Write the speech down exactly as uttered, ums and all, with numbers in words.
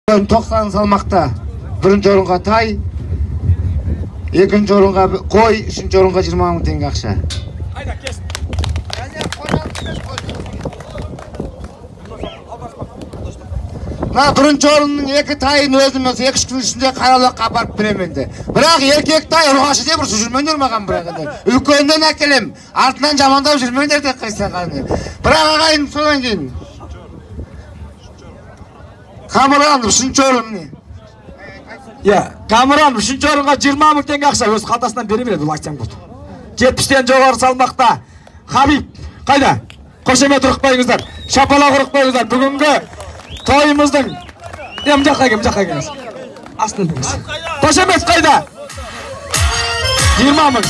тоқсан салмақта биринчи орынға тай, экинчи орынға қой, үчүнчү орынға жыйырма миң теңге акча. Мына биринчи орындын эки тайын өзүм эки үч күн ичинде каралыкка барып берем энди. Бирок эркек тай ургашы деп уруп жүрмөңдөр маған бирок энди. Үлкөндөн акелем, артынан жамандап жүрмөңдөр деп кайсаганы. Бирок агайын содан кийин Камыран үчүнчү орын. Я, Камыран үчүнчү орунга жыйырма миң теңге акча өз калтасынан бере берет, бул айтсаң болот. жетимиштен жогору салмакта Хабиб кайда? Кош эме туруп коюңуздар. Шапалак уруп коюңуздар. Бүгүнкү тоюмуздун эм жакка кем жакка келиңиз. Астын. Кош эмес кайда? жыйырма миң